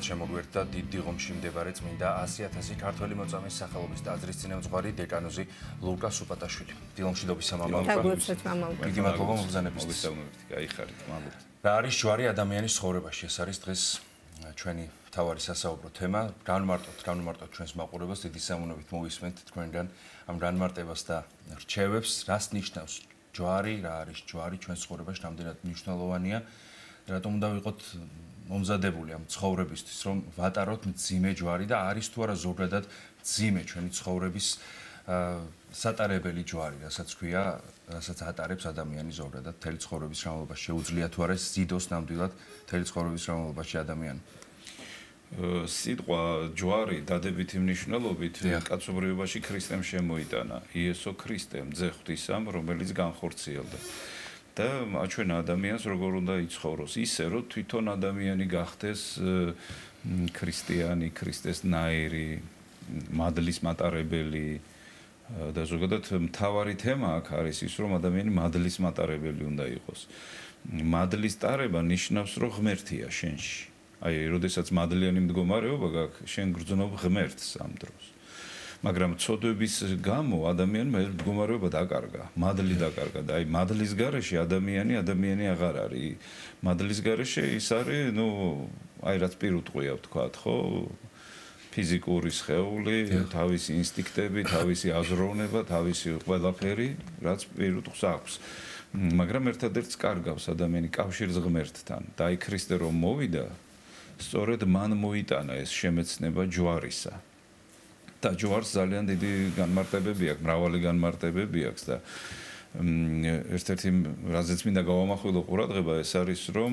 შემოგვერთა დიდ დიღომში მდებარე წმინდა 100,000 ქართველი მოწამის სახელობის ტაძრის წინამძღვარი დეკანოზი ლუკა სუპატაშვილი. დილომშვიდობის მამა ლუკა. დიდი მადლობა მოგზაურობისთვის. გაიხარით, მადლობა. რა არის ჯვარი ადამიანის ცხოვრებაში? ეს არის დღეს ჩვენი მთავარი სასაუბრო თემა. განვმარტოთ ჩვენს მაყურებელს, დიდი სამონებით მოვისმენთ თქვენგან ამ განმარტებას და რჩევებს, რას ნიშნავს ჯვარი, რა არის ჯვარი ჩვენს ცხოვრებაში, რამდენად მნიშვნელოვანია. რატომ უნდა ვიყოთ მომზადებული ამ ცხოვრებისთვის, რომ ვატაროთ მძიმე ჯვარი და არის თუ არა ზოგადად მძიმე ჩვენი ცხოვრების სატარებელი ჯვარი, რასაც ქვია, რასაც ატარებს ადამიანი ზოგადად მთელი ცხოვრების განმავლობაში. შეუძლია თუ არა ზიდოს ნამდვილად მთელი ცხოვრების განმავლობაში ადამიანი. სიტყვა ჯვარი დადებითი მნიშვნელობით კაცობრიობაში ქრისტემ შემოიტანა. იესო ქრისტემ, ძე ღვთისამ, რომელიც განხორციელდა. და აჩვენა ადამიანს როგორ უნდა იცხოვროს, ისე რომ თვითონ ადამიანი გახდეს ქრისტიანი, ქრისტესნაირი, მადლის მატარებელი და ზოგადად მთავარი თემა აქ არის ის, რომ ადამიანი მადლის მატარებელი უნდა იყოს. მადლის ტარება ნიშნავს, რომ ღმერთია შენში. აი, როდესაც მადლიანი მდგომარეობა გაქვს, შენ გრძნობ ღმერთს ამ დროს. მაგრამ ცოდვების გამო ადამიანმა ეს მდგომარეობა დაკარგა, მადლი დაკარგა და აი მადლის გარეშე ადამიანი აღარ არის. მადლის გარეშე ის არის, აი რაც პირუტყვია ვთქვათ, ხო? ფიზიკური სხეული, თავისი ინსტინქტები, თავისი აზროვნება, თავისი ყველაფერი, რაც პირუტყვს აქვს. მაგრამ ერთადერთს კარგავს ადამიანი კავშირს ღმერთთან. და აი ქრისტე რომ მოვიდა, სწორედ მან მოიტანა ეს შემეცნება ჯვარისა. და ჯვარს ძალიან დიდი განმარტებები აქვს, მრავალი განმარტებები აქვს და ერთ-ერთი რაზეც მინდა გავამახვილო ყურადღება, ეს არის რომ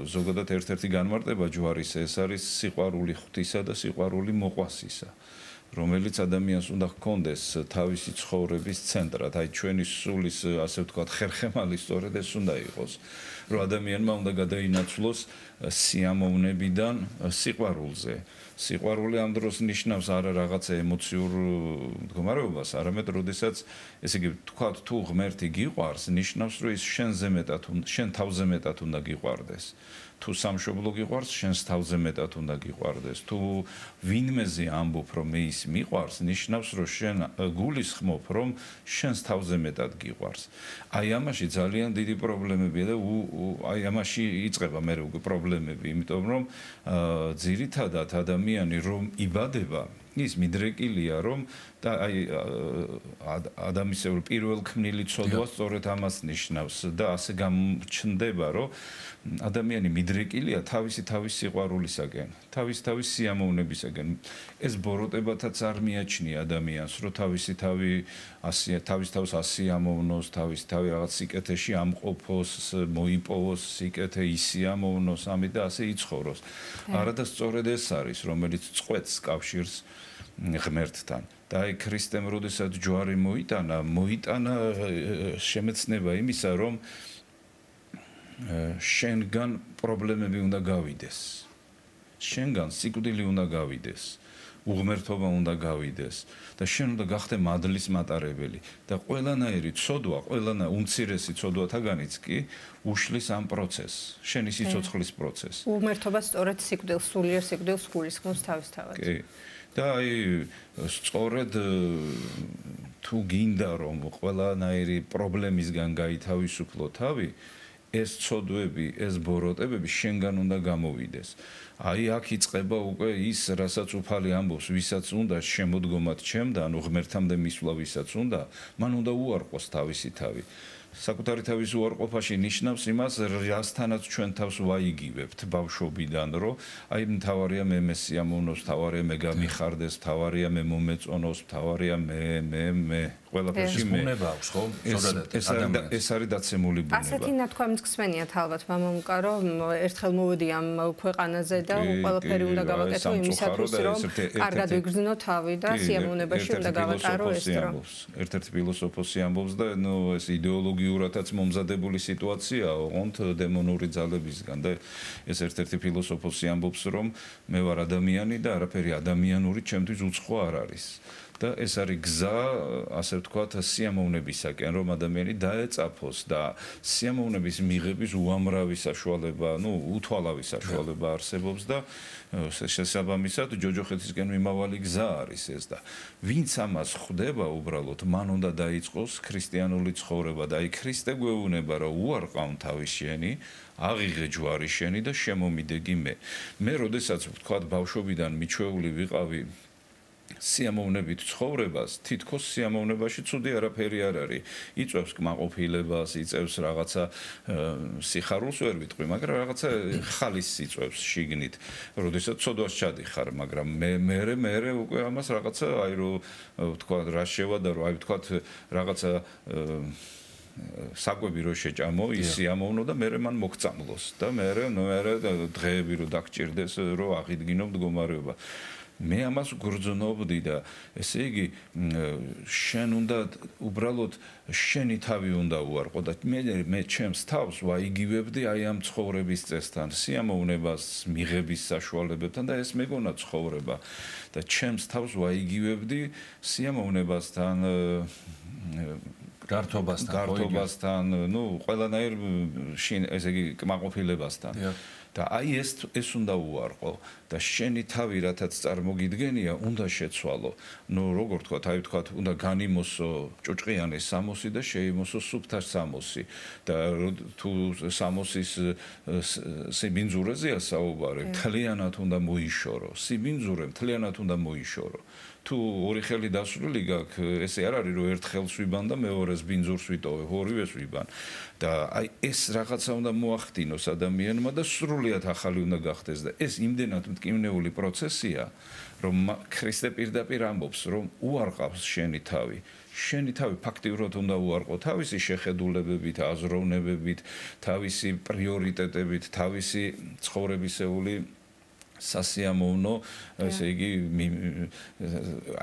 ზოგადად ერთ-ერთი განმარტება ჯვარის ეს არის სიყვარული ღვთისა და სიყვარული მოყვასისა, რომელიც ადამიანს უნდა ჰქონდეს თავისი ცხოვრების ცენტრად, აი ჩვენი სულის ასე ვთქვათ ხერხემალი სწორედ ეს უნდა იყოს, რომ ადამიანმა უნდა გადაინაცვლოს სიამოვნებიდან სიყვარულზე. სიყვარული ამ დროს ნიშნავს არა რაღაცა ემოციურ მდგომარეობას, არამედ როდესაც ესე იგი თქვათ თუ ღმერთი გიყვარს, ნიშნავს რომ ის შენ თავზე მეტად უნდა გიყვარდეს. თუ სამშობლო გიყვარს, შენს თავზე მეტად უნდა გიყვარდეს. თუ ვინმეზე ამბობ რომ მე ის მიყვარს, ნიშნავს რომ შენ გულისხმობ რომ შენს თავზე მეტად გიყვარს. აი ამაში ძალიან დიდი პრობლემებია და აი ამაში იწყება მე უკვე პრობლემები, იმიტომ რომ ძირითადად ადამიანი რომ იბადება ის მიდრეკილია რომ და აი ადამიანის პირველ ქმნილი ცოდვა სწორედ ამას ნიშნავს და ასე გამჩნდება რომ ადამიანი მიდრეკილია თავისი სიყვარულისაგან, თავის სიამოვნებისაგან. ეს ბოროტებათაც არ მიაჩნია ადამიანს, რომ თავის თავს ასიამოვნოს, თავის რაღაც სიკეთეში ამყოფოს, მოიპოვოს სიკეთე, ისიამოვნოს, ამით და ასე იცხოვროს. არადა სწორედ ეს არის, რომელიც წყვეტს კავშირს ღმერთთან. და აი ქრისტემ როდესაც ჯვარი მოიტანა შემეცნება იმისა, რომ შენგან პრობლემები უნდა გავიდეს. შენგან სიკვდილი უნდა გავიდეს. უღმერთობა უნდა გავიდეს და შენ უნდა გახდე მადლის მატარებელი და ყველანაირი ცოდვა, უმცირესი ცოდვათაგანიც კი უშლის ამ პროცესს, შენი სიცოცხლის პროცესს. უღმერთობა სწორედ სიკვდილს, სულიერ სიკვდილს გულისხმობს თავისთავად. კი. და აი სწორედ თუ გინდა რომ ყველანაირი პრობლემისგან გაითავისუფლო თავი, ეს ცოდვები, ეს ბოროტებები შენგან უნდა გამოვიდეს. აი აქ იწყება უკვე ის, რასაც უფალი ამბობს, ვისაც უნდა შემოდგომად ჩემთან, ღმერთამდე მისვლა ვისაც უნდა, მან უნდა უარყოს თავისი თავი. საკუთარი თავის უარყოფაში ნიშნავს იმას, რასთანაც ჩვენ თავს ვაიგივებთ ბავშვობიდან, რომ აი მთავარია მე მესიამოვნოს, მთავარია მე გამიხარდეს, მთავარია მე მომეწონოს, მთავარია მე ყველაფერში მე. ბუნება აქვს, ხო? ზოგადად ეს არის დაცემული ბუნება. ასეთი ნათქვამის ხსენიათ ალბათ მამამუკა, რომ ერთხელ მოვედი ამ ქვეყანაზე და ყველაფერი უნდა გავაკეთო იმისათვის, რომ კარგად ვიგრძნო თავი და სიამოვნებაში უნდა გავატარო ეს დრო. ერთ-ერთი ფილოსოფოსი ამბობს და ეს იდეოლოგიურადაც მომზადებული სიტუაცია, ოღონდ დემონური ძალებისგან და ეს ერთ-ერთი ფილოსოფოსი ამბობს, რომ მე ვარ ადამიანი და არაფერი ადამიანური ჩემთვის უცხო არ არის. და ეს არის გზა, ასე ვთქვათ, სიამოვნებისაკენ, რომ ადამიანი დაეწაფოს და სიამოვნების მიღების უამრავი საშუალება, უთვალავი საშუალება არსებობს და შესაბამისად ჯოჯოხეთისკენ მიმავალი გზა არის ეს და ვინც ამას ხვდება უბრალოდ მან უნდა დაიწყოს ქრისტიანული ცხოვრება და აი ქრისტე გვეუბნება რომ უარყავ თავის შენი აღიღე ჯვარი შენი და შემომიდეგი მე როდესაც ვთქვათ ბავშვობიდან მიჩვეული ვიყავი სიამოვნებით ცხოვრებას, თითქოს სიამოვნებაში ცუდი არაფერი არ არის. იწვევს კმაყოფილებას, იწევს რაღაცა სიხარულს ვერ ვიტყვი, მაგრამ რაღაცა ხალისს იწვევს შიგნით. როდესაც ცოდვას ჩადიხარ, მაგრამ მე უკვე ამას რაღაცა აი რო ვთქვა რა შევადა, რომ აი ვთქვა რაღაცა საკვები რო შეჭამო, ის სიამოვნო და მე მან მოგწამლოს და მე დღეები რო დაგჭირდეს, რომ აღიდგინო მდგომარეობა. მე ამას გრძნობდი და ესე იგი შენ უნდა უბრალოდ შენი თავი უნდა უარყო და მე ჩემს თავს ვაიგივებდი აი ამ ცხოვრების წესთან, სიამოვნებას მიღების საშუალებებთან და ეს მეგონა ცხოვრება და ჩემს თავს ვაიგივებდი სიამოვნებასთან გართობასთან, ყველანაირ ესე იგი კმაყოფილებასთან. და აი ეს უნდა უარყო და შენი თავი რათაც წარმოგიდგენია უნდა შეცვალო. როგორ თქვა, აი თქვა, უნდა განიმოსო ჭუჭყიანის სამოსი და შეიმოსო სუფთა სამოსი და თუ სამოსის სიბინძურეზეა საუბარი, მთლიანად უნდა მოიშორო. სიბინძურე მთლიანად უნდა მოიშორო. თუ ორი ხელი დასრულილი გაქვს, ესე არ არის რომ ერთ ხელს ვიბან და მეორეს ბინძურს ვიტოვებ, ორივეს ვიბან. და აი ეს რაღაცა უნდა მოახდინოს ადამიანმა და სრულიად ახალი უნდა გახდეს და ეს იმდენად მტკივნეული პროცესია, რომ ქრისტე პირდაპირ ამბობს, რომ უარყავს შენი თავი. შენი თავი ფაქტიურად უნდა უარყო თავისი შეხედულებებით, აზროვნებებით, თავისი პრიორიტეტებით, თავისი ცხოვრებისეული სასიამოვნო, ესე იგი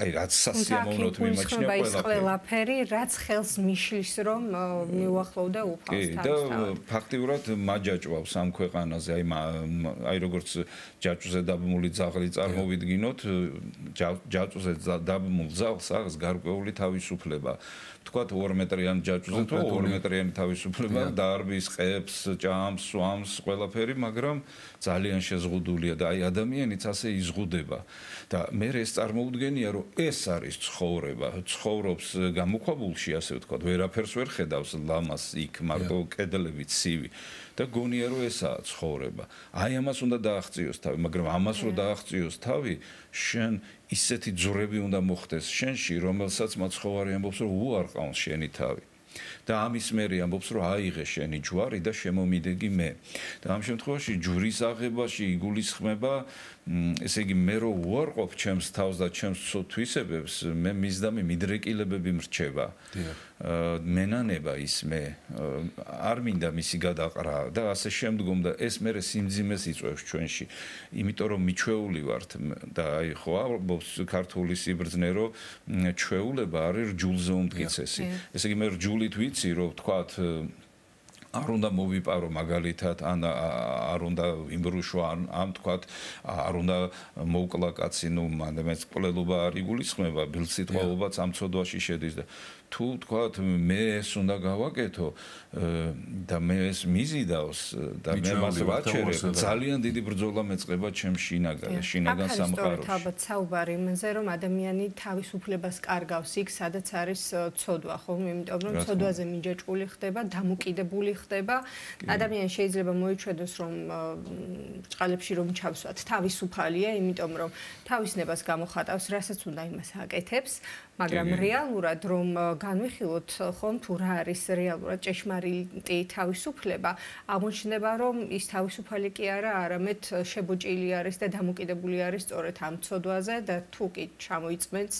აი რაც სასიამოვნოთ მიმაჩნია ყველაფერი, რაც ხელს მიშლის რომ მიუახლოვდა უფალს თავის. და ფაქტიურად მაჯაჭვავს ამ ქვეყანაზე, აი როგორც ჯაჭვზე დაბმული ძაღლი წარმოვიდგინოთ, ჯაჭვზე დაბმულ ძაღლს აქვს გარკვეული თავისუფლება. თქვათ 2 მეტრიანი ჯაჭვზე თუ 2 მეტრიანი თავისუფლება დაარბის, ყებს, ჭამს, სვამს, ყველაფერი, მაგრამ ძალიან შეზღუდულია და აი ადამიანიც ასე იზღუდება და მე ეს წარმოუდგენია რომ ეს არის ცხოვრება, ცხოვრობს გამოქვაბულში, ასე ვთქვათ, ვერაფერს ვერ ხედავს ლამას იქ, მარტო კედლები ცივი და გონია რომ ესაა ცხოვრება. აი ამას უნდა დააღწიოს თავი, მაგრამ ამას რომ დააღწიოს თავი, შენ ისეთი ძვრები უნდა მოხდეს შენში, რომელსაც მაცხოვარი ამბობს რომ უარყავს შენი თავი. და ამის მერე ამბობს რომ აიღე შენი ჯვარი და შემომიდეგი მე. და ამ შემთხვევაში ჯვრის აღებაში იგულისხმება, ესე იგი მე რო უარყოფ ჩემს თავს და ჩემს თვისებებს, მე მისდამი მიდრეკილებები მრჩება. მენანება ის მე არ მინდა მისი გადაყრა და ასე შემდგომ და ეს მერე სიმძიმეს იწვევს ჩვენში. იმიტომ რომ მიჩვეული ვართ და აი ხო ამბობს ქართული სიბრძნე რომ ჩვეულება არის რჯულზე უმტკიცესი. ესე იგი მე რჯულით ვიცი რომ თქვათ არ უნდა მოვიპარო მაგალითად, ან არ უნდა იმბრუშო, ან თქვათ არ უნდა მოვკლა კაცი, მანდ კვლელობა არ იგულისხმება, ბილსიტყვაობაც ამ ცოდვაში შედის და თუ თქვათ მე ეს უნდა გავაკეთო და მე ეს მიზიდავს და მე მას ვაჩერებ, ძალიან დიდი ბრძოლა მეწყება ჩემ შინაგან სამყაროში. ალბათ საუბარი იმაზე, რომ ადამიანი თავისუფლებას კარგავს იქ, სადაც არის ცოდვა, ხო? იმიტომ რომ ცოდვაზე მიჯაჭვული ხდება, დამოკიდებული ხდება. ადამიანი შეიძლება მოიჩვენოს, რომ ბრჭყალებში რომ ჩავსვათ, თავისუფალია, იმიტომ რომ თავისნებას გამოხატავს, რასაც უნდა იმას აკეთებს, მაგრამ რეალურად რომ განვიხილოთ ხომ თუ რა არის რეალურად ჭეშმარიტი თავისუფლება, აღმოჩნდება რომ ის თავისუფალი კი არა, არამედ შებოჭილი არის და დამოკიდებული არის სწორედ ამ ცოდვაზე და თუ კი ჩამოიწმენს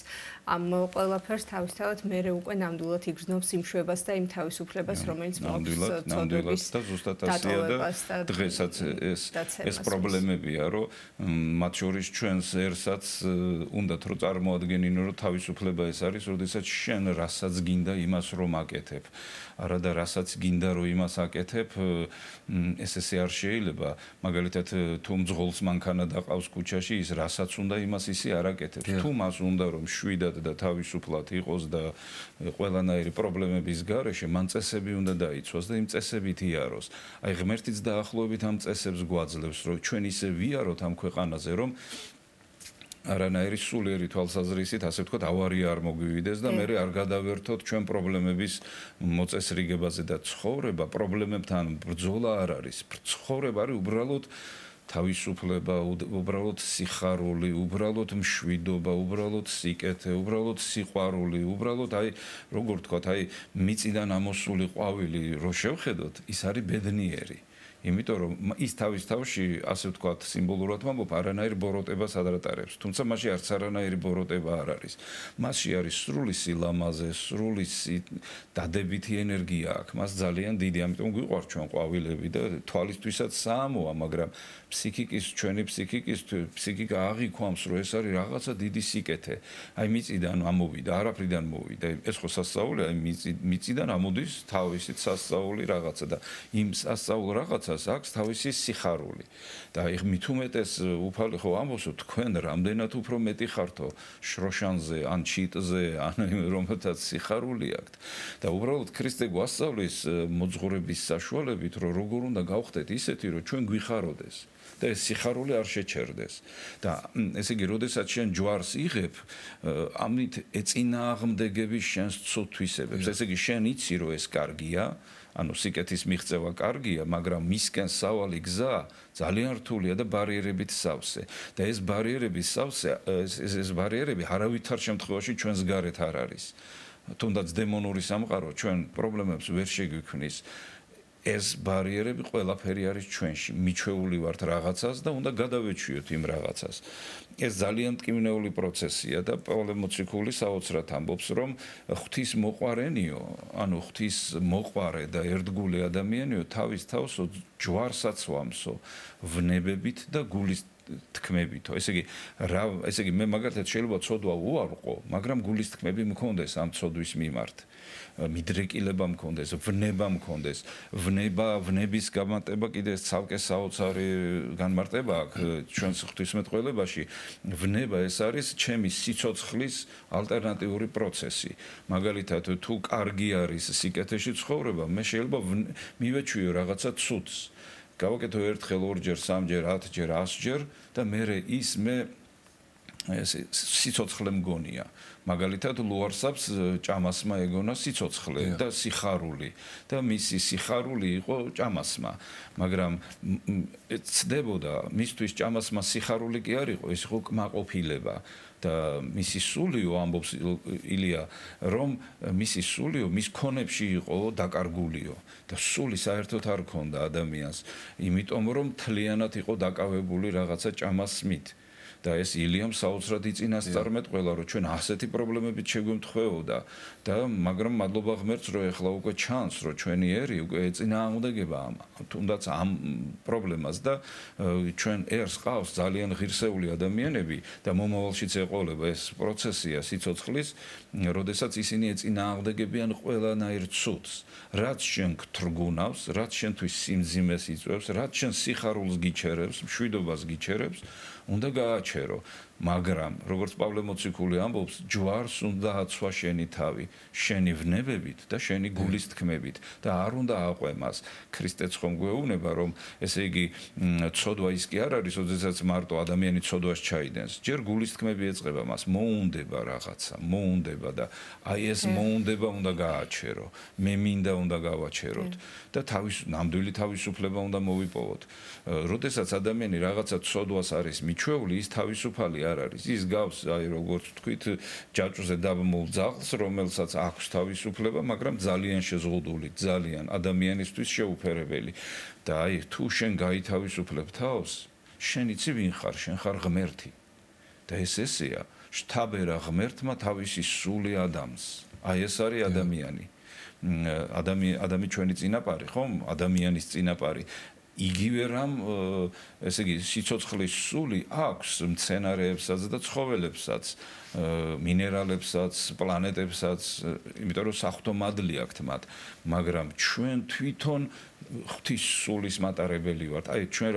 ამ ყველაფერს თავისთავად მერე უკვე ნამდვილად იგრძნობს იმ შვებას და იმ თავისუფლებას, რომელიც მოაქვს ნამდვილად და ზუსტად ასეა და დღესაც ეს პრობლემებია, რომ მათ შორის ჩვენს ერსაც უნდათ რომ წარმოადგენინო, რომ თავისუფლება სულება ეს არის, როდესაც შენ რასაც გინდა იმას რომ აკეთებ. არა და რასაც გინდა რომ იმას აკეთებ, ესე არ შეიძლება. მაგალითად, თუ მძღოლს მანქანა დაყავს ქუჩაში, ის რასაც უნდა იმას ისე არ აკეთებს. თუ მას უნდა რომ შვიდად და თავისუფლად იყოს და ყველანაირი პრობლემების გარეშე, მან წესები უნდა დაიცვას და იმ წესებით იაროს. აი ღმერთიც დაახლოებით ამ წესებს გვაძლევს, რომ ჩვენ ისე ვიაროთ ამ ქვეყანაზე, რომ არანაირი სულიერი თვალსაზრისით, ასე ვთქვათ, ავარია არ მოგვივიდეს და მე არ გადავერთოთ ჩვენ პრობლემების მოწესრიგებაზე და ცხოვრება პრობლემებთან ბრძოლა არ არის. ცხოვრება არის უბრალოდ თავისუფლება, უბრალოდ სიხარული, უბრალოდ მშვიდობა, უბრალოდ სიკეთე, უბრალოდ სიყვარული, უბრალოდ აი, როგორ ვთქვათ, აი მიწიდან ამოსული ყვავილი რო შევხედოთ, ის არის ბედნიერი. იმიტომ რომ ის თავის თავში, ასე ვთქვათ, სიმბოლურად ვამბობ, არანაირ ბოროტებას არ ატარებს. თუმცა მასში არც არანაირი ბოროტება არ არის. მასში არის სრული სილამაზე, სრული დადებითი ენერგია აქვს. მას ძალიან დიდი, ამიტომ გვიყვარს ჩვენ ყვავილები და თვალისთვისაც საამოა, მაგრამ ჩვენი ფსიქიკა აღიქვამს, რომ ეს არის რაღაცა დიდი სიკეთე. აი მიწიდან ამოვიდა, არაფრიდან მოვიდა. ეს ხო სასწაულია, აი მიწიდან ამოდის თავისით სასწაული რაღაცა და იმ სასწაულ რაღაცას აქვს თავისი სიხარული. და მით უმეტეს უფალი ხო ამბობს, რომ თქვენ რამდენად უფრო მეტი ხართო შროშანზე, ან ჩიტზე, ან რომელთაც სიხარული აქვთ. და უბრალოდ ქრისტე გვასწავლის მოძღვრების საშუალებით, რომ როგორ უნდა გავხდეთ ისეთი, რომ ჩვენ გვიხაროდეს. და ეს სიხარული არ შეჩერდეს. და ესე იგი, როდესაც შენ ჯვარს იღებ, ამით ეწინააღმდეგების შენს ცუდთვისებებს. ესე იგი, შენ იცი, რომ ეს კარგია, ანუ სიკეთის მიღწევა კარგია, მაგრამ მისკენ სავალი გზა ძალიან რთულია და ბარიერებით სავსე. და ეს ბარიერები არავითარ შემთხვევაში ჩვენს გარეთ არ არის. თუნდაც დემონური სამყარო ჩვენ პრობლემებს ვერ შეგვიქმნის. ეს ბარიერები ყველაფერი არის ჩვენში. მიჩვეული ვართ რაღაცას და უნდა გადავეჩვიოთ იმ რაღაცას. ეს ძალიან მტკივნეული პროცესია და პავლე მოციქული საოცრად ამბობს, რომ ღვთის მოყვარენიო, ანუ ღვთის მოყვარე და ერთგული ადამიანიო თავის თავს ჯვარსაც ვამსო ვნებებით და გულის თქმებითო. ესე იგი მე მაგალითად შეიძლება ცოდვა უარყო, მაგრამ გულის თქმები მქონდეს ამ ცოდვის მიმართ. მიდრეკილება მქონდეს, ვნება მქონდეს. ვნების გამარტება კიდე ცალკე საოცარი განმარტება აქვს ჩვენს ღვთისმეტყველებაში. ვნება ეს არის ჩემი სიცოცხლის ალტერნატიული პროცესი. მაგალითად, თუ კარგი არის სიკეთეში ცხოვრება, მე შეიძლება მივეჩვიო რაღაცა ცუდს. გავაკეთო ერთხელ, ორჯერ, სამჯერ, 10ჯერ, 100ჯერ და მე სიცოცხლე მგონია. მაგალითად, ლუარსაბს ჭამასმა ეგონა სიცოცხლე და სიხარული და მისი სიხარული იყო ჭამასმა. მაგრამ ცდებოდა მისთვის ჭამასმა სიხარული კი არ იყო, ეს იყო კმაყოფილება. და მისი სულიო ამბობს ილია, რომ მისი სულიო მის ქონებში იყო დაკარგულიო და სული საერთოდ არ ქონდა ადამიანს, იმიტომ რომ მთლიანად იყო დაკავებული რაღაცა ჭამასმით. და ეს ილიამ საოცრად იწინასწარმეტყველა, რომ ჩვენ ასეთი პრობლემებით შეგვემთხვეოდა და მაგრამ მადლობა ღმერთს, რომ ეხლა უკვე ჩანს, რომ ჩვენი ერი უკვე ეწინააღმდეგება თუნდაც ამ პრობლემას და ჩვენ ერს ყავს ძალიან ღირსეული ადამიანები და მომავალშიც ეყოლება ეს პროცესია სიცოცხლის, როდესაც ისინი ეწინააღმდეგებიან ყველანაირ ცუდს, რაც შენ გთრგუნავს, რაც შენთვის სიმძიმეს იწვევს, რაც შენ სიხარულს გიჩერებს, მშვიდობას გიჩერებს, უნდა გააჩერო. მაგრამ როგორც პავლე მოციქული ამბობს, ჯვარს უნდა აცვა შენი თავი, შენი ვნებებით და შენი გულის თქმებით და არ უნდა აყვემას. ქრისტეც ხომ გვეუბნება, რომ ესე იგი ცოდვა ის კი არ არის, როდესაც მარტო ადამიანი ცოდვას ჩაიდენს. ჯერ გულის თქმები ეწყება მას, მოუნდება რაღაცა, მოუნდება და აი ეს მოუნდება უნდა გააჩერო. მე მინდა უნდა გავაჩეროთ და ნამდვილი თავისუფლება უნდა მოვიპოვოთ. როდესაც ადამიანი რაღაცა ცოდვას არის მიჩვეული, ის თავისუფალი არ არის. ის გავს, აი როგორც ვთქვით, ჯაჭვზე დაბმულ ძაღლს, რომელსაც აქვს თავისუფლება, მაგრამ ძალიან შეზღუდული, ძალიან ადამიანისთვის შეუფერებელი. და აი თუ შენ გაითავისუფლებ თავს, შენ იცი ვინ ხარ, შენ ხარ ღმერთი. და ესეა, შთაბერა ღმერთმა თავისი სული ადამიანს. აი ეს არის ადამიანი. ადამიანი ჩვენი წინაპარი, ხომ? ადამიანის წინაპარი. იგივე რამ ესე იგი სიცოცხლის სული აქვს მცენარეებსაც და ცხოველებსაც, მინერალებსაც, პლანეტებსაც, იმიტომ რომ საღვთო მადლი აქვთ მათ, მაგრამ ჩვენ თვითონ ღვთის სულის მატარებელი ვართ. აი ჩვენ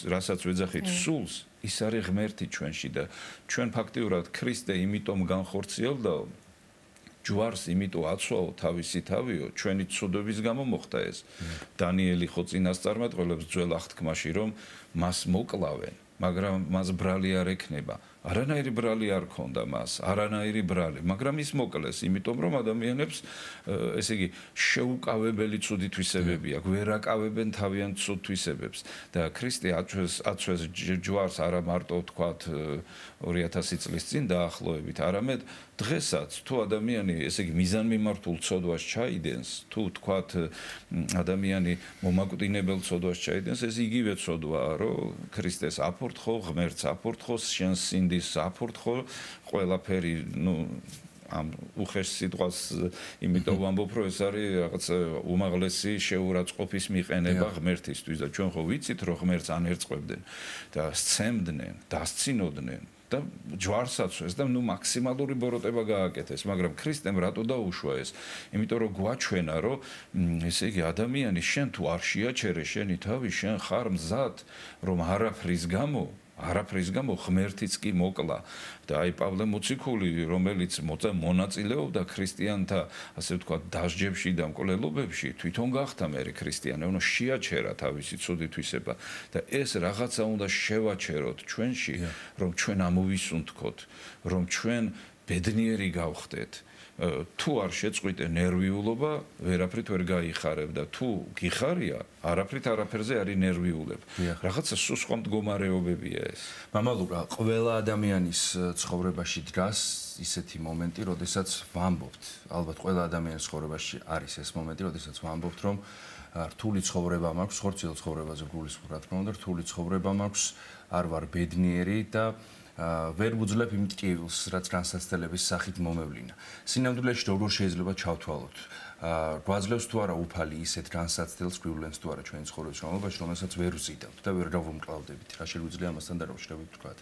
რასაც ვეძახით სულს, ის არის ღმერთი ჩვენში და ჩვენ ფაქტიურად ქრისტე იმიტომ განხორციელდა ჯვარს იმიტომ აცვაო თავისი თავიო ჩვენი ცუდობის გამო მოხდა ეს. დანიელი ხო წინასწარმეტყველებს ძველ აღთქმაში რომ მას მოკლავენ, მაგრამ მას ბრალი არ ექნება. არანაირი ბრალი არ ქონდა მას, არანაირი ბრალი, მაგრამ ის მოკლეს, იმიტომ რომ ადამიანებს ესე იგი შეუკავებელი ცუდი თვისებები აქვს, ვერ აკავებენ თავიანთ ცუდ თვისებებს და ქრისტე აწვეს ჯვარს არა მარტო თქვათ 2000 წლის წინ დაახლოებით, არამედ დღესაც თუ ადამიანი ესე იგი მიზანმიმართულ ცოდვას ჩაიდენს, თუ თქვათ ადამიანი მომაკვდინებელ ცოდვას ჩაიდენს, ეს იგივე ცოდვაა, რომ ქრისტეს აფორთხო, ღმერთს აფორთხო, შენს სინდის აფორთხო, ყველაფერი, ამ უხეშ სიტყვას იმიტომ ვამბობ, რომ ეს არის რაღაც უმაღლესი შეურაცხყოფის მიყენება ღმერთისთვის და ჩვენ ხო ვიცით, რომ ღმერთს ანერწყებდნენ და სცემდნენ, დასცინოდნენ და ჯვარსაცვეს და მაქსიმალური ბოროტება გააკეთეს, მაგრამ ქრისტემ რატო დაუშვა ეს? იმიტომ რომ გვაჩვენა, რომ ესე იგი ადამიანი შენ თუ არ შეაჩერე შენი თავი, შენ ხარ მზად, რომ არაფრის გამო ღმერთიც კი მოკლა და აი პავლე მოციქული, რომელიც მონაწილეობდა ქრისტიანთა, ასე ვთქვათ, დასჯებში და მკვლელობებში, თვითონ გახდა მერე ქრისტიანი, უნდა შეაჩერა თავისი ცუდი თვისება და ეს რაღაცა უნდა შევაჩეროთ ჩვენში, რომ ჩვენ ამოვისუნთქოთ, რომ ჩვენ ბედნიერი გავხდეთ. თუ არ შეწყვიტე ნერვიულობა, ვერაფრით ვერ გაიხარებ და თუ გიხარია, არაფერზე არის ნერვიულებ. რაღაცა სხვა მდგომარეობებია ეს. მამალურა, ყველა ადამიანის ცხოვრებაში დგას ისეთი მომენტი, როდესაც ვამბობთ, ალბათ ყველა ადამიანის ცხოვრებაში არის ეს მომენტი, როდესაც ვამბობთ, რომ რთული ცხოვრება მაქვს, ხორციელ ცხოვრებაზე გულისხმობ, რა თქმა უნდა, რთული ცხოვრება მაქვს, არ ვარ ბედნიერი და ვერ ვუძლებ იმ ტკივილს, რაც განსაცდელების სახით მომევლინა. სინამდვილეში როგორ შეიძლება ჩავთვალოთ? გვაძლევს თუ არა უფალი ისეთ განსაცდელს გვივლენს თუ არა ჩვენი ცხოვრების განმავლობაში, რომელსაც ვერ ვზიდავთ და ვერ გავუმკლავდებით. რა შეგვიძლია ამასთან დაკავშირებით თქვა?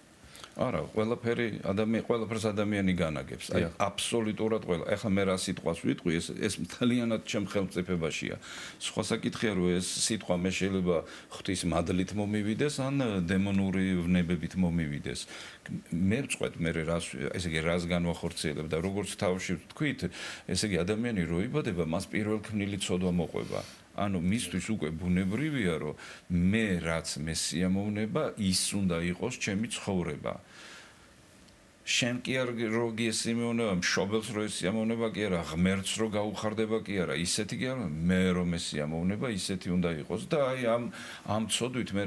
არა, ყველაფერს ადამიანი განაგებს. აი, აბსოლუტურად ყველა. ეხლა მე რა სიტყვას ვიტყვი, ეს მთლიანად ჩემ ხელმწიფებაშია. სხვა საკითხია, რომ ეს სიტყვა მე შეიძლება ღვთის მადლით მომივიდეს, ან დემონური ვნებებით მომივიდეს. მე ვწყვეტ მე ესე იგი რას განვახორციელებ და როგორც თავში ვთქვით, ესე იგი ადამიანი რო იბადება, მას პირველქმნილი ცოდვა მოყვება. ანუ მისთვის უკვე ბუნებრივია, რომ მე რაც მე სიამოვნება, ის უნდა იყოს ჩემი ცხოვრება. შენ კი არ რო გიესიმეონება, მშობელს რო ესიამოვნება კი არა, ღმერთს რო გაუხარდება კი არა, ისეთი კი არა, მე რომ ესიამოვნება, ისეთი უნდა იყოს და აი ამ ცოდვით მე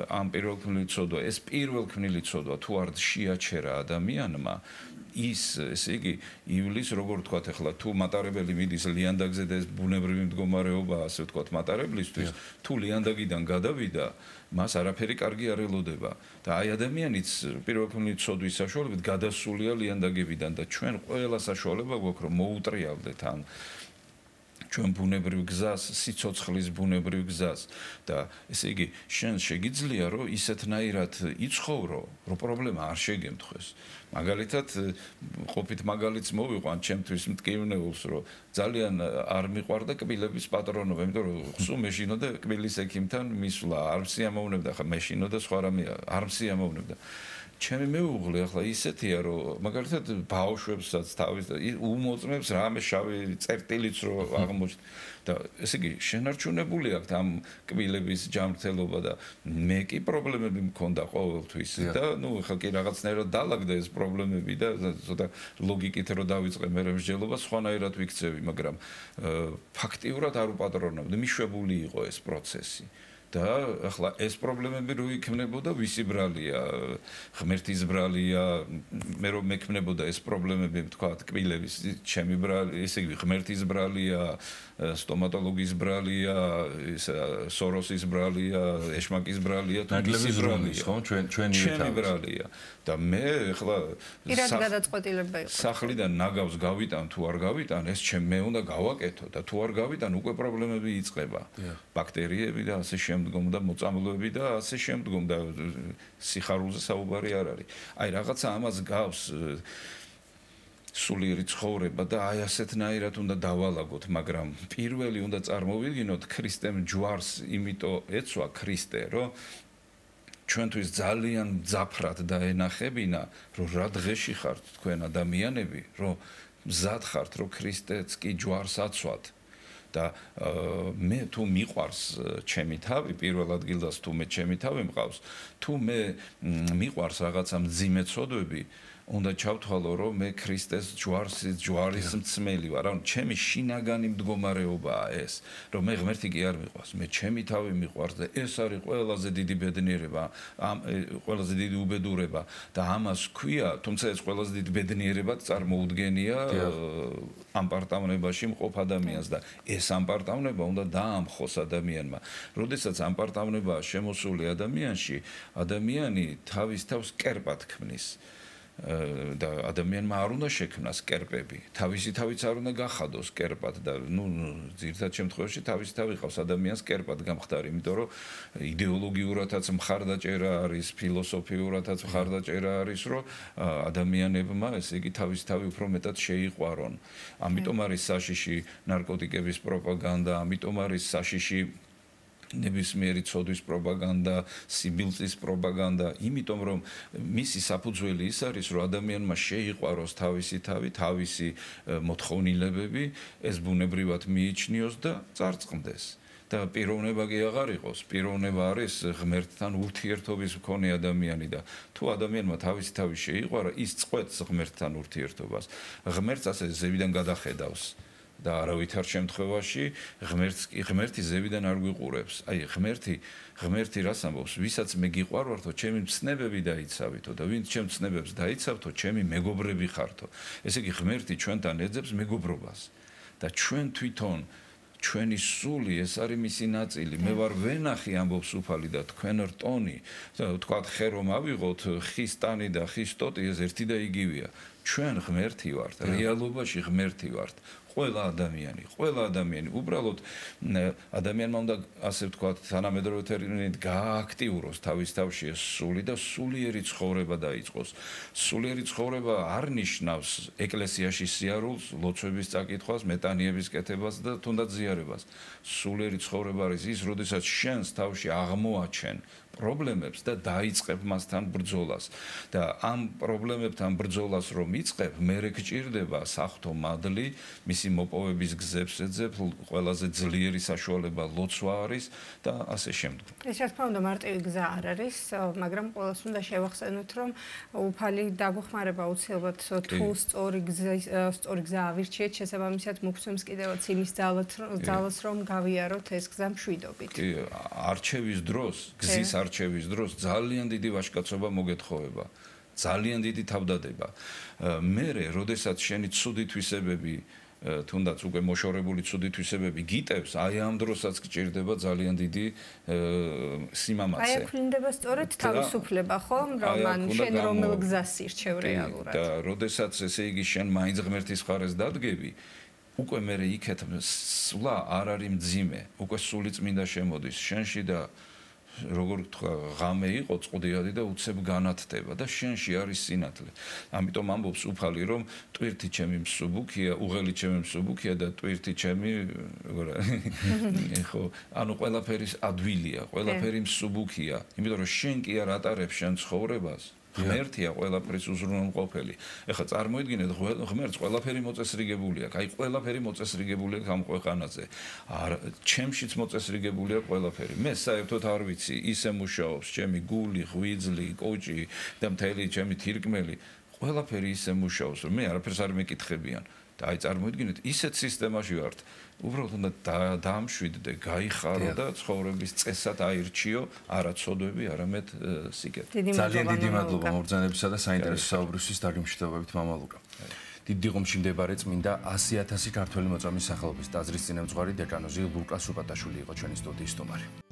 ამ პირველქმნილი ცოდვა, ეს პირველქმნილი ცოდვა თუ არ შეაჩერა ადამიანმა ის ესე იგი ივლის როგორ ვთქვათ ახლა თუ მატარებელი მიდის ლიანდაგზე და ეს ბუნებრივი მდგომარეობა ასე ვთქვათ მატარებლისთვის თუ ლიანდაგიდან გადავიდა მას არაფერი კარგი არ ელოდება და აი ადამიანიც პირველქმნილი ცოდვის საშუალებით გადასულია ლიანდაგებიდან და ჩვენ ყველა საშუალება გვაქვს რომ მოუტრიალდეთ ამ ჩვენ ბუნებრივ გზას, სიცოცხლის ბუნებრივ გზას და ესე იგი შენ შეგიძლია რომ ისეთნაირად იცხოვრო, რომ პრობლემა არ შეგემთხვეს. მაგალითად, ყოფით მაგალითს მოვიყვან ჩემთვის მტკივნეულს, რომ ძალიან არ მიყვარდა კბილების პატრონობა, იმიტომ რომ ხსუ მეშინოდა კბილის ექიმთან მისვლა, არ მსიამოვნებდა, ხა მეშინოდა სხვა რამე, არ მსიამოვნებდა. ჩემი მეუღლე ახლა ისეთია რომ მაგალითად ბავშვებსაც თავის უმოწმებს რამე შავი წერტილიც რო აღმოჩნდა და ესე იგი შენარჩუნებული აქვს ამ კბილების ჯანმრთელობა და მე კი პრობლემები მქონდა ყოველთვის და ნუ ახლა კი რაღაცნაირად დაალაგდა ეს პრობლემები და ცოტა ლოგიკით რო დავიწყე მე მსჯელობა სხვანაირად ვიქცევი მაგრამ ფაქტიურად არ უპატრონავდი მიშვებული იყო ეს პროცესი და ახლა ეს პრობლემები რო იქნებოდა ვისი ბრალია ღმერთის ბრალია მე რომ მექნებოდა ეს პრობლემები თქვა კბილების ჩემი ბრალი ესე იგი ღმერთის ბრალია სტომატოლოგის ბრალია სოროსის ბრალია ეშმაკის ბრალია თუ ვისი ბრალია ხო ჩვენი ბრალია და მე ახლა პირად გადაწყვეტილება იყო სახლიდან ნაგავს გავიტან თუ არ გავიტან ეს მე უნდა გავაკეთო და თუ არ გავიტან უკვე პრობლემები იწყება ბაქტერიები და ასე შემდეგ შემდგომ და მოწამლები და ასე შემდგომ და სიხარულზე საუბარი არ არის. აი რაღაცა ამას გავს სულიერი ცხოვრება და აი ასეთნაირად უნდა დავალაგოთ, მაგრამ პირველი უნდა წარმოვიდგინოთ ქრისტემ ჯვარს იმიტომ ეცვა ქრისტე, რომ ჩვენთვის ძალიან მძაფრად დაენახებინა, რომ რა დღეში ხართ თქვენ ადამიანები, რომ მზად ხართ, რომ ქრისტეც კი ჯვარს აცვათ. და მე თუ მიყვარს ჩემი თავი პირველ ადგილას თუ მე ჩემი თავი მყავს თუ მე მიყვარს რაღაცა მძიმე ცოდვები უნდა ჩავთვალო რომ მე ქრისტეს ჯვარის მწმელი ვარ ანუ ჩემი შინაგანი მდგომარეობაა ეს რომ მე ღმერთი კი არ მიყვარს მე ჩემი თავი მიყვარს და ეს არის ყველაზე დიდი ბედნიერება ყველაზე დიდი უბედურება და ამას ქვია თუმცა ეს ყველაზე დიდი ბედნიერება წარმოუდგენია ამ პარტავნებაში მყოფ ადამიანს და ეს ამ პარტავნება უნდა დაამხოს ადამიანმა. როდესაც ამ პარტავნებაა შემოსული ადამიანში, ადამიანი თავის თავს კერპად ქმნის. და ადამიანმა არ უნდა შექმნას კერპები. თავისი თავიც არ უნდა გახადოს კერპად და ძირითად შემთხვევაში თავისი თავი ყავს ადამიანს კერპად გამხდარი, იმიტომ რომ იდეოლოგიურადაც მხარდაჭერა არის, ფილოსოფიურადაც მხარდაჭერა არის, რომ ადამიანებმა ესე იგი თავისი თავი უფრო მეტად შეიყვარონ. ამიტომ არის საშიში ნარკოტიკების პროპაგანდა, ამიტომ არის საშიში ნებისმიერი ცოდვის პროპაგანდა, სიბილწის პროპაგანდა, იმიტომ რომ მისი საფუძველი ის არის, რომ ადამიანმა შეიყვაროს თავისი თავი, თავისი მოთხოვნილებები, ეს ბუნებრივად მიიჩნიოს და წარწყმდეს. და პიროვნება კი აღარ იყოს, პიროვნება არის ღმერთთან ურთიერთობის მქონე ადამიანი და თუ ადამიანმა თავისი თავი შეიყვარა, ის წყვეტს ღმერთთან ურთიერთობას. ღმერთს ასე ზევიდან გადახედავს. და არავითარ შემთხვევაში ღმერთი ზევიდან არ გვიყურებს. აი ღმერთი რას ამბობს? ვისაც მე გიყვარვართო, ჩემი მცნებები დაიცავითო და ვინც ჩემ მცნებებს დაიცავთო, ჩემი მეგობრები ხართო. ესე იგი ღმერთი ჩვენთან ეძებს მეგობრობას. და ჩვენ თვითონ ჩვენი სული ეს არის მისი ნაწილი. მე ვარ ვენახი ამბობს უფალი და თქვენ რტონი. თქვათ ხე რომ ავიღოთ, ხის ტანი და ხის ტოტი ეს ერთი და იგივეა. ჩვენ ღმერთი ვართ, რეალობაში ღმერთი ვართ. ყველა ადამიანი უბრალოდ ადამიანმა უნდა ასე ვთქვათ თანამედროვე ტერმინით გააქტიუროს თავის თავში ეს სული და სულიერი ცხოვრება დაიწყოს. სულიერი ცხოვრება არ ნიშნავს ეკლესიაში სიარულს, ლოცვების წაკითხვას, მეტანიების კეთებას და თუნდაც ზიარებას. სულიერი ცხოვრება არის ის, როდესაც შენს თავში აღმოაჩენ პრობლემებს და დაიწყებ მასთან ბრძოლას. და ამ პრობლემებთან ბრძოლას რომ იწყებ, მერე გჭირდება საღვთო მადლი, მისი მოპოვების გზებს ეძებ, ყველაზე ძლიერი საშუალება ლოცვა არის და ასე შემდეგ. ეს რა თქმა უნდა მარტივი გზა არ არის, მაგრამ ყოველს უნდა შევახსენოთ, რომ უფალი დაგვეხმარება აუცილებლად თუ სწორი გზა ავირჩიეთ, შესაბამისად მოგცემს კიდევაც იმის ძალას, რომ გავიაროთ ეს გზა მშვიდობით. კი, არჩევის დროს, გზის არჩევის დროს ძალიან დიდი ვაჟკაცობა მოგეთხოვება. ძალიან დიდი თავდადება. მერე, როდესაც შენი ცუდი თვისებები თუნდაც უკვე მოშორებული ცუდი თვისებები გიტევს, აი ამ დროსაც გჭირდება ძალიან დიდი სიმამაცე. აი აქ ვლინდება სწორედ თავისუფლება, ხო? რომ შენ რომელ გზას ირჩევ რეალურად. და როდესაც ესე იგი შენ მაინც ღმერთის მხარეს დადგები, უკვე მე იქეთ სულა არ არის მძიმე, უკვე სული წმინდა შემოდის შენში და როგორ თქვა ღამე იყო წყუდიადი და უცებ განათდება და შენში არის სინათლე. ამიტომ ამბობს უფალი რომ ტვირთი ჩემი მსუბუქია, უღელი ჩემი მსუბუქია და ტვირთი ჩემი ხო ანუ ყველაფერი ადვილია, ყველაფერი მსუბუქია. იმიტომ რომ შენ კი არ ატარებს შენ ცხოვრებას. ღმერთია ყველაფრის უზრუნველყოფელი. ეხლა წარმოიდგინეთ ღმერთს ყველაფერი მოწესრიგებული აქვს. აი ყველაფერი მოწესრიგებული აქვს ამ ქვეყანაზე. ჩემშიც მოწესრიგებული აქვს ყველაფერი. მე საერთოდ არ ვიცი, ისე მუშაობს ჩემი გული, ღვიძლი, კოჭი და მთელი ჩემი თირკმელი. ყველაფერი ისე მუშაობს, რომ მე არაფერს არ მეკითხებიან. და აი წარმოიდგინეთ, ისეთ სისტემაში ვართ. უბრალოდ უნდა დაამშვიდდე, გაიხარო და ცხოვრების წესად აირჩიო არა ცოდვები, არამედ სიკეთე. ძალიან დიდი მადლობა მობრძანებისა და საინტერესო საუბრისთვის დაგემშვიდობებით მამა ლუკა. დიდი ღომში მდებარე წმინდა 100,000 ქართველი მოწამის სახელობის ტაძრის წინამძღვარი დეკანოზი ლუკა სუპატაშვილი იყო ჩვენი სტუდიის სტუმარი.